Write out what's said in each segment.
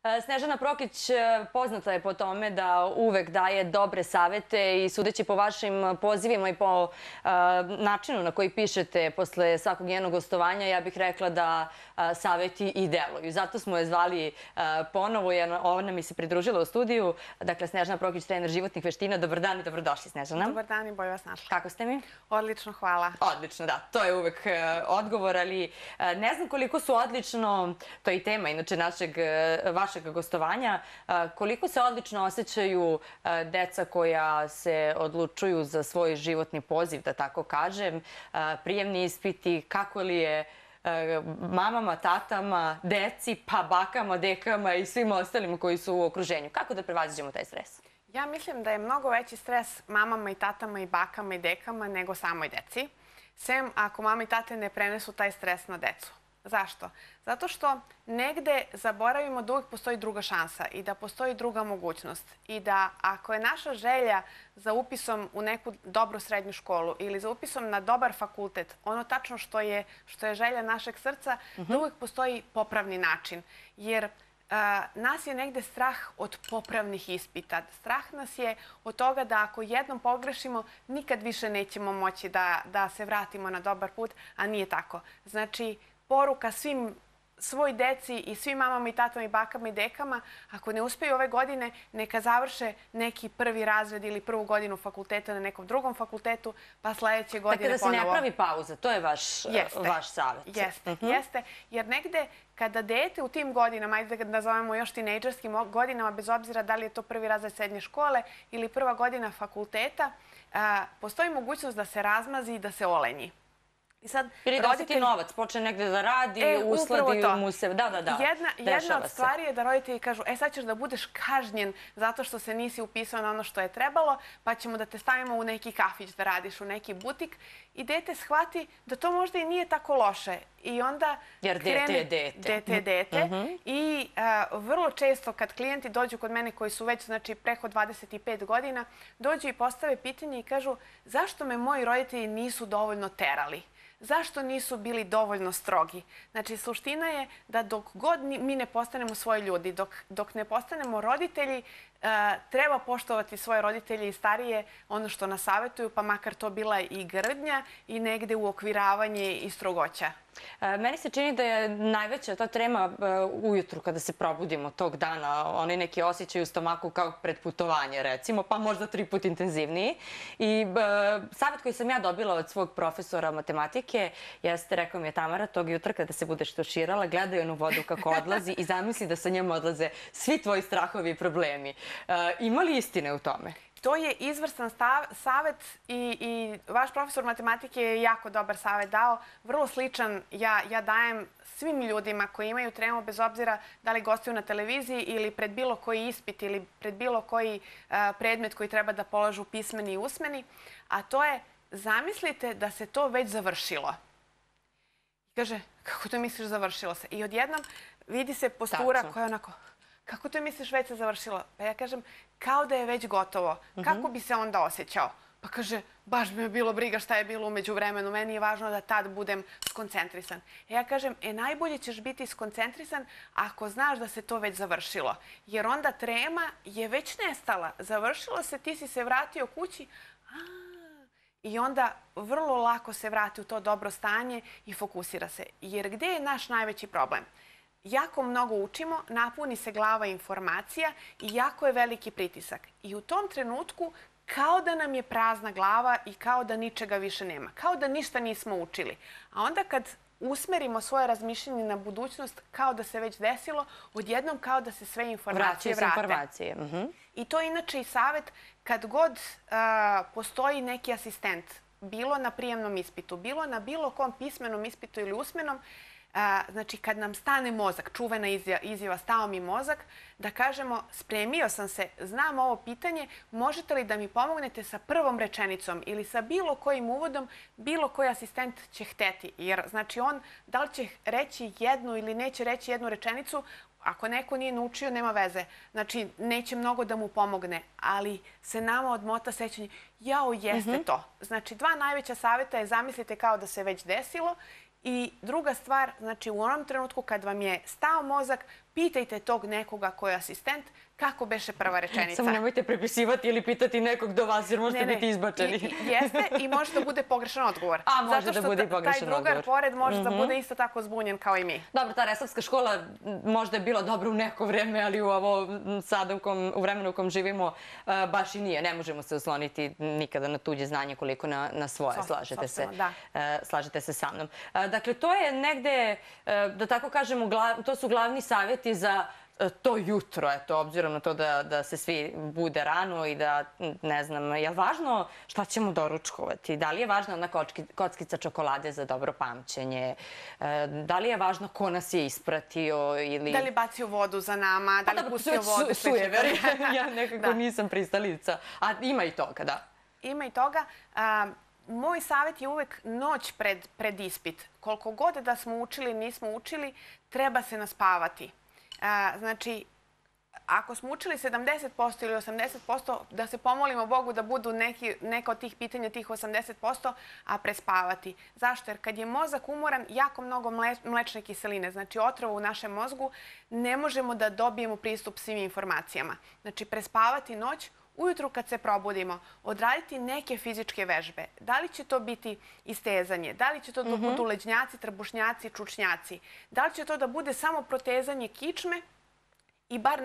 Snežana Prokić poznata je po tome da uvek daje dobre savete i sudeći po vašim pozivima i po načinu na koji pišete posle svakog njenog gostovanja, ja bih rekla da saveti i deluju. Zato smo je zvali ponovo, jer ona mi se pridružila u studiju. Dakle, Snežana Prokić, trener životnih veština. Dobar dan i dobrodošli, Snežana. Dobar dan i bolje vas našla. Kako ste mi? Odlično, hvala. Odlično, da. To je uvek odgovor, ali ne znam koliko su odlično, to je i tema inače vašeg gostovanja, koliko se odlično osjećaju deca koja se odlučuju za svoj životni poziv, da tako kažem, prijemni ispiti, kako li je mamama, tatama, deci, pa bakama, dekama i svim ostalim koji su u okruženju. Kako da prevaziđemo taj stres? Ja mislim da je mnogo veći stres mamama i tatama i bakama i dekama nego samoj deci. Sem ako mama i tate ne prenesu taj stres na decu. Zašto? Zato što negde zaboravimo da uvijek postoji druga šansa i da postoji druga mogućnost. I da ako je naša želja za upisom u neku dobru srednju školu ili za upisom na dobar fakultet, ono tačno što je želja našeg srca, da uvijek postoji popravni način. Jer nas je negde strah od popravnih ispita. Strah nas je od toga da ako jednom pogrešimo, nikad više nećemo moći da se vratimo na dobar put, a nije tako. Znači, poruka svoj deci i svim mamama i tatama i bakama i dekama, ako ne uspeju ove godine, neka završe neki prvi razred ili prvu godinu fakulteta na nekom drugom fakultetu, pa sledeće godine ponovo. Dakle, da se ne pravi pauza, to je vaš savjet. Jeste. Jer negde kada dete u tim godinama, ajde da ga nazovemo još tinejdžerskim godinama, bez obzira da li je to prvi razred srednje škole ili prva godina fakulteta, postoji mogućnost da se razmazi i da se olenji. Ili da se ti novac počne negde da radi, usledi mu se... Jedna od stvari je da roditelji kažu, sad ćeš da budeš kažnjen zato što se nisi upisao na ono što je trebalo, pa ćemo da te stavimo u neki kafić da radiš, u neki butik. I dete shvati da to možda i nije tako loše. I onda jer dete je dete. I vrlo često kad klijenti dođu kod mene koji su već preko 25 godina, dođu i postave pitanje i kažu zašto me moji roditelji nisu dovoljno terali? Zašto nisu bili dovoljno strogi? Znači, suština je da dok god mi ne postanemo svoji ljudi, dok ne postanemo roditelji, treba poštovati svoje roditelje i starije ono što nas savetuju, pa makar to bila i grdnja i negde uokviravanje i strogoća. Meni se čini da je najveća ta trema ujutru kada se probudimo tog dana, oni neki osjećaj u stomaku kao pred putovanje recimo, pa možda 3 puta intenzivniji. I savjet koji sam ja dobila od svog profesora matematike jeste, rekao mi je Tamara, tog jutra kada se budeš tuširala, gledaj onu vodu kako odlazi i zamisli da sa njom odlaze svi tvoji strahovi i problemi. Ima li istine u tome? To je izvrstan savet i vaš profesor matematike je jako dobar savet dao. Vrlo sličan ja dajem svim ljudima koji imaju tremu, bez obzira da li gostuju na televiziji ili pred bilo koji ispit ili pred bilo koji predmet koji treba da polažu pismeni i usmeni. A to je, zamislite da se to već završilo. Kaže, kako to misliš završilo se? I odjednom vidi se postura koja je onako... Kako to misliš već se završilo? Pa ja kažem, kao da je već gotovo. Kako bi se onda osjećao? Pa kaže, baš bi me bilo briga šta je bilo umeđu vremenu. Meni je važno da tad budem skoncentrisan. Ja kažem, najbolje ćeš biti skoncentrisan ako znaš da se to već završilo. Jer onda trema je već nestala. Završilo se, ti si se vratio kući. I onda vrlo lako se vrati u to dobro stanje i fokusira se. Jer gde je naš najveći problem? Jako mnogo učimo, napuni se glava informacija i jako je veliki pritisak. I u tom trenutku kao da nam je prazna glava i kao da ničega više nema. Kao da ništa nismo učili. A onda kad usmerimo svoje razmišljenje na budućnost kao da se već desilo, odjednom kao da se sve informacije vrate. I to je inače i savjet kad god postoji neki asistent, bilo na prijemnom ispitu, bilo na bilo kom pismenom ispitu ili usmenom, znači kad nam stane mozak, čuvena izjava stao mi mozak, da kažemo spremio sam se, znam ovo pitanje, možete li da mi pomognete sa prvom rečenicom ili sa bilo kojim uvodom, bilo koji asistent će hteti. Jer znači on da li će reći jednu ili neće reći jednu rečenicu, ako neko nije naučio, nema veze. Znači, neće mnogo da mu pomogne, ali se nama odmota sećanje, jao, jeste to. Znači, 2 najveća savjeta je zamislite kao da se već desilo. I druga stvar, znači u onom trenutku kad vam je stao mozak, pitajte tog nekoga ko je asistent kako beše prva rečenica. Samo nemojte prepisivati ili pitati nekog do vas jer možete biti izbačeni. Jeste i može da bude pogrešan odgovor. A, može da bude i pogrešan odgovor. Taj drugar pored može da bude isto tako zbunjen kao i mi. Dobro, ta resavska škola možda je bila dobra u neko vreme, ali u ovo sada u vremenu u kom živimo baš i nije. Ne možemo se osloniti nikada na tuđe znanje koliko na svoje. Slažete se sa mnom. Dakle, to je negde, da tako kažemo, to su glavni savjeti za to jutro, eto, obzirom na to da se svi bude rano i da, ne znam, je li važno šta ćemo doručkovati? Da li je važna ona kockica čokolade za dobro pamćenje? Da li je važno ko nas je ispratio ili... Da li bacio vodu za nama? Da li pustio vodu? Sujeveri. Ja nekako nisam pristalica. A ima i toga, da. Ima i toga. Moj savjet je uvek noć pred ispit. Koliko god da smo učili, nismo učili, treba se naspavati. Znači, ako smo učili 70% ili 80%, da se pomolimo Bogu da budu neka od tih pitanja, tih 80%, a prespavati. Zašto? Jer kad je mozak umoran, jako mnogo mlečne kiseline, znači otrova u našem mozgu, ne možemo da dobijemo pristup svim informacijama. Znači, prespavati noć, ujutru kad se probudimo, odraditi neke fizičke vežbe. Da li će to biti istezanje? Da li će to da budu leđnjaci, trbušnjaci, čučnjaci? Da li će to da bude samo protezanje kičme i bar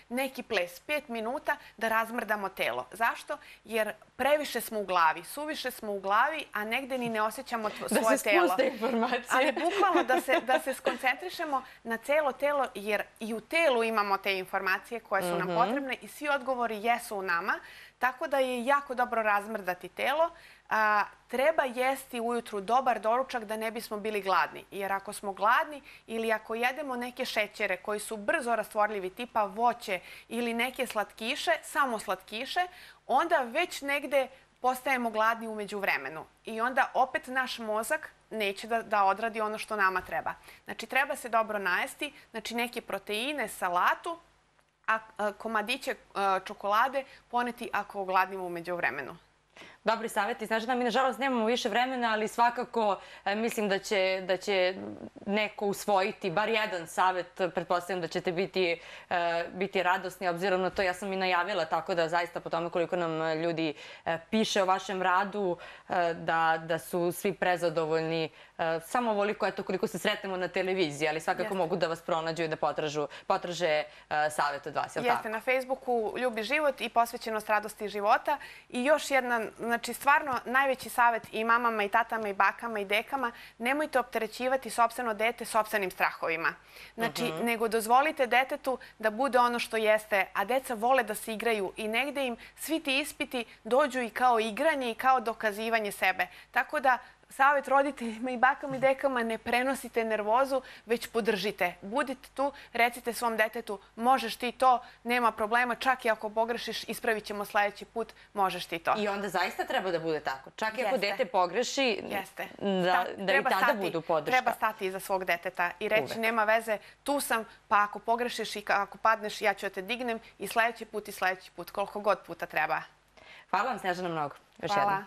neki ples, 5 minuta da razmrdamo telo. Zašto? Jer previše smo u glavi, suviše smo u glavi, a negde ni ne osjećamo svoje telo. Da se spuste informacije. Ali bukvalno da se skoncentrišemo na celo telo, jer i u telu imamo te informacije koje su nam potrebne i svi odgovori jesu u nama, tako da je jako dobro razmrdati telo. Treba jesti ujutru dobar doručak da ne bismo bili gladni. Jer ako smo gladni ili ako jedemo neke šećere koji su brzo rastvorljivi, tipa voće ili neke slatkiše, samo slatkiše, onda već negde postajemo gladni umeđu vremenu. I onda opet naš mozak neće da odradi ono što nama treba. Znači, treba se dobro najesti, znači neke proteine, salatu, a komadiće čokolade poneti ako gladnimo umeđu vremenu. Dobri savjeti. Znači da mi nažalost nemamo više vremena, ali svakako mislim da će neko usvojiti bar jedan savjet. Pretpostavljam da ćete biti radosni, obzirom na to ja sam i najavila, tako da zaista po tome koliko nam ljudi piše o vašem radu, da su svi prezadovoljni. Samo ovoliko, eto, koliko se sretnemo na televiziji, ali svakako mogu da vas pronađu i da potraže savjet od vas. Jeste, na Facebooku Ljubi život i posvećenost radosti života. I još jedna, znači stvarno najveći savjet i mamama i tatama i bakama i dekama, nemojte opterećivati sopstveno dete sopstvenim strahovima. Znači, nego dozvolite detetu da bude ono što jeste, a deca vole da se igraju i negde im svi ti ispiti dođu i kao igranje i kao dokazivanje sebe. Tako da savjet roditeljima i bakama i dekama, ne prenosite nervozu, već podržite. Budite tu, recite svom detetu, možeš ti to, nema problema, čak i ako pogrešiš, ispravit ćemo sljedeći put, možeš ti to. I onda zaista treba da bude tako. Čak i ako dete pogreši, da i tada budu podrška. Treba stati iza svog deteta i reći, nema veze, tu sam, pa ako pogrešiš i ako padneš, ja ću da te dignem i sljedeći put, koliko god puta treba. Hvala vam, Snežana, mnogo. Hvala.